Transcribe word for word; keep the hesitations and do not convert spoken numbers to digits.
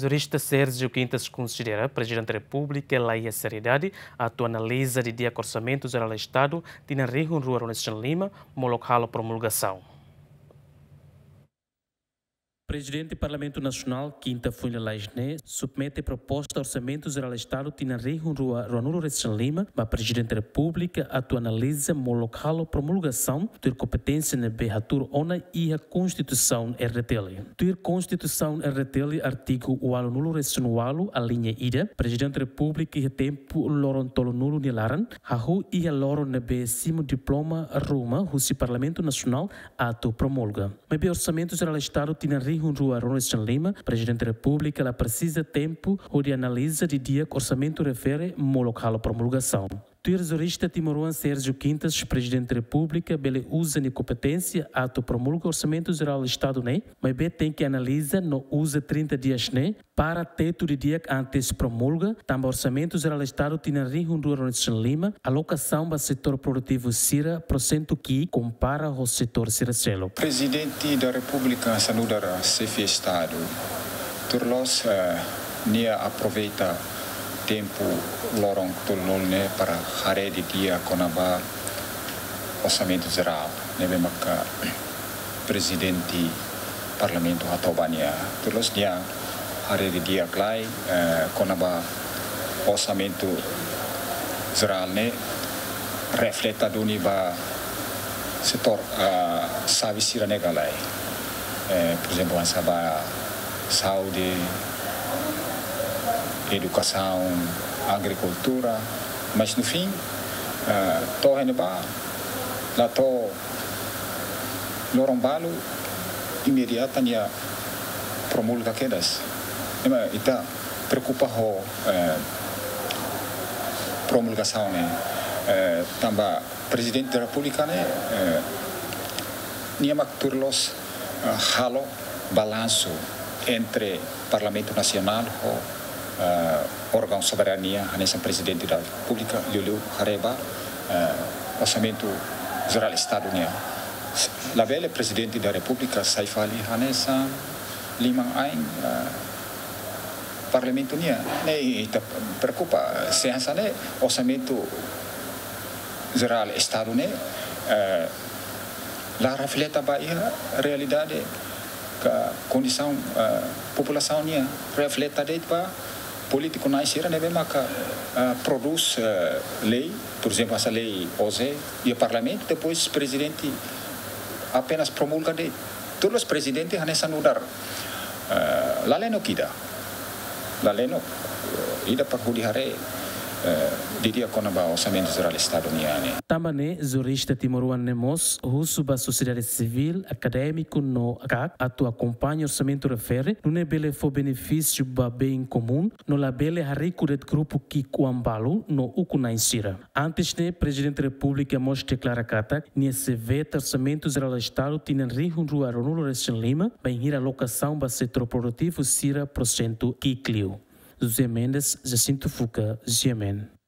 Jurista Sérgio Quintas konsidera Prezidente Repúblika la iha seriedade atu analiza didi'ak Orsamentu Jerál Estadu tinan rihun rua ruanulu-resin-lima molok halo promulgasaun. Prezidente Parlamentu Nasionál, Quinta Fuin Lalais ne'e submete proposta Orsamentu Jerál Estadu tinan rihun rua ruanulu-resin-lima ba Prezidente Repúblika atu analiza molok halo promulgasaun, tuir kompeténsia ne'ebé hatuur ona iha Konstituisaun R D T L. Tuir Konstituisaun R D T L artigu ualunulu-resin-ualu, aliña ida, Prezidente Repúblika iha tempu loron tolunulu nia laran, hahú iha loron ne'ebé simu diploma ruma husi Parlamentu Nasionál atu promulga. Maibé Orsamentu Jerál Estadu tinan rihun rua ruanulu-resin-lima, Prezidente Repúblika la presiza tempu hodi analiza didi'ak orsamentu refere molok halo promulgasaun. Tuir jurista timoroan Sérgio Quintas, Prezidente Repúblika bele uza nia kompeténsia atu promulga Orsamentu Jerál Estadu ne'e, maibé tenke analiza no uza trinta dias ne'e para tetu didi'ak antes promulga, tanba Orsamentu Jerál Estadu tinan rihun rua ruanulu-resin-lima, alokasaun ba setór produtivu sira porsentu ki'ik kompara ho setór sira seluk. Prezidente da Repúblika hanesan nu'udar xefe Estadu, tuir loloos, eh, nia aproveita tempu loron tolunulu ne'e para haree didi'ak kona-ba Orsamentu Jerál ne'ebé maka Prezidente Parlamentu hato'o ba nia. Tuir loloos nia haree didi'ak lai, eh, kona-ba Orsamentu Jerál ne'e refleta duni ba setór, ah, xave sira ne'e ka lae. Eh, por ezemplu, hanesan ba saúde, edukasaun, agrikultura, mas no fim, eh, to'o iha ne'ebá, la to'o loron balu imediata nia promulga kedas. Ema ita preokupa ho, eh, promulgasaun ne'e, eh, tanba Prezidente da Repúblika ne'e, eh, nia mak tuir loloos, eh, halo balansu entre Parlamentu Nasionál ho, eh, órgaun soberania, hanesan Prezidente da Repúblika, liuliu haree ba, eh, Orsamentu Jerál Estadu nian. Labele Prezidente da Repúblika sai fali hanesan liman-ain, eh, Parlamentu nian. Ne'e ita preokupa, se hanesan ne'e Orsamentu Jerál Estadu ne'e, eh, la refleta ba iha realidade ka kondisaun, eh, populasaun nian, refleta de'it ba polítiku na'in sira ne'ebé maka, eh, prodús, eh, lei, por ezemplu, hanesan lei O Z, iha Parlamentu, depois Prezidente apenas promulga de'it. Tuir loloos Prezidente hanesan nu'udar, eh, la lenok ida. La lenok, eh, ida para hodi haree, eh, didi'ak kona-ba Orsamentu Jerál Estadu nian ne'e. Tanba ne'e, jurista timoroan ne'e mós husu ba sosiedade sivíl, akadémiku no kak atu akompaña orsamentu refere, nune'e bele fó benefísiu ba bem komún, no labele hariku de'it grupu ki'ik-oan balu no ukun-na'in sira. Antes ne'e, Prezidente Repúblika mós deklara katak nia sei veta Orsamentu Jerál Estadu tinan rihun rua ruanulu-resin-lima, bainhira alokasaun ba setór produtivu sira porsentu ki'ik liu. José Mendes, Jacinto Fuca, G M N.